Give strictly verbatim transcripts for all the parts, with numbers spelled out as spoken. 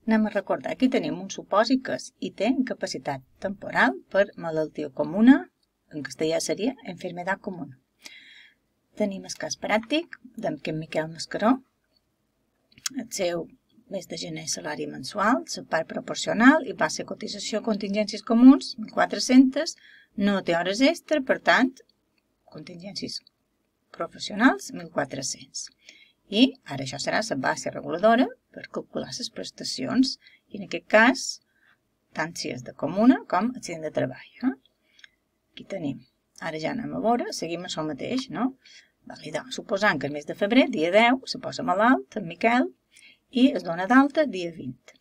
Anem a recordar, aquí tenim un supòsit que és I té incapacitat temporal per malaltia comuna, en castellà seria enfermedad comuna. Tenim el cas pràctic d'en Miquel Mascaró, el seu mes de gener salari mensual, la part proporcional i base de cotització contingències comuns, mil quatre-cents, no té hores extra, per tant, contingències professionals, mil quatre-cents. I ara això serà la base reguladora per calcular les prestacions, i en aquest cas, tant si és de comuna com accident de treball. Eh? Aquí tenim. Ara ja anem a veure, seguim això mateix, no? Suposant que el mes de febrer, dia deu, se posa malalt, en Miquel, i es dona d'alta dia vint.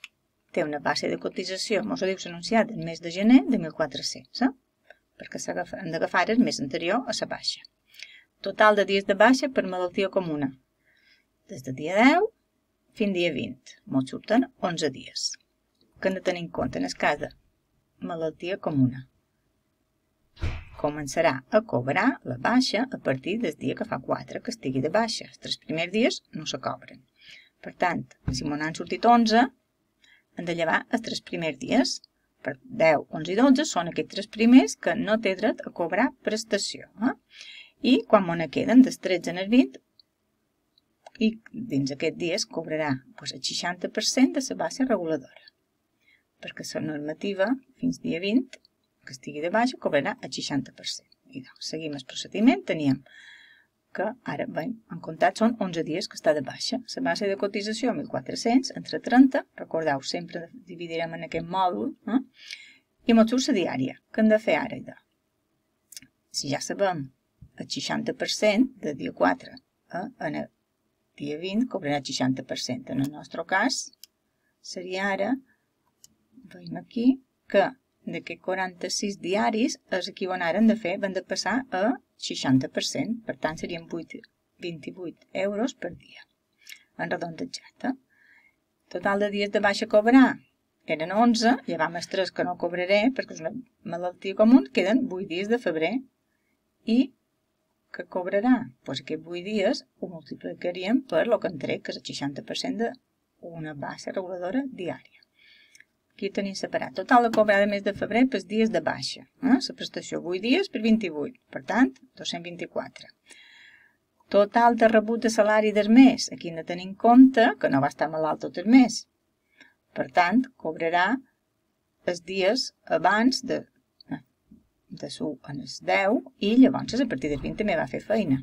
Té una base de cotització, mos ho diu l'anunciat del mes de gener, de mil quatre-cents, eh? perquè hem d'agafar el mes anterior a la baixa. Total de dies de baixa per malaltia comuna. Des del dia deu fins dia vint. Mos surten onze dies. Que hem de tenir en compte en el cas de malaltia comuna. Començarà a cobrar la baixa a partir del dia que fa quatre que estigui de baixa. Els tres primers dies no se cobren. Per tant, si m'ho n'han sortit onze, hem de llevar els tres primers dies. Per deu, onze i dotze són aquests tres primers que no té dret a cobrar prestació. Eh? I quan m'ho ne queden dels tretze en el vint, i dins aquests dies cobrarà doncs, el seixanta per cent de la base reguladora. Perquè la normativa, fins dia vint, que estigui de baixa, cobrarà el seixanta per cent. I doncs, seguim el procediment, teníem que ara, bé, en comptat són onze dies que està de baixa. La base de cotització, mil quatre-cents, entre trenta, recordeu, sempre dividirem en aquest mòdul, eh? I mos surt la diària. Què hem de fer ara? Si ja sabem el seixanta per cent de dia quatre, eh? en el dia vint cobrarà el seixanta per cent. En el nostre cas, seria ara, veiem aquí, que d'aquests quaranta-sis diaris, els equivalents de fer, van de passar a seixanta per cent, per tant serien vint-i-vuit euros per dia, en redondejat. Total de dies de baixa a cobrar eren onze, llevam els tres que no cobraré perquè és una malaltia comuna, queden vuit dies de febrer. I què cobrarà? Doncs aquests vuit dies ho multiplicaríem per el que en trec, que és el seixanta per cent d'una base reguladora diària. Aquí tenim separat. Total de cobrar de mes de febrer pels dies de baixa. Eh? La prestació vuit dies per vint-i-vuit. Per tant, dos-cents vint-i-quatre. Total de rebut de salari del mes. Aquí hem de tenir en compte que no va estar malalt tot el mes. Per tant, cobrarà els dies abans de, de su en els deu i llavors a partir del vint també va fer feina.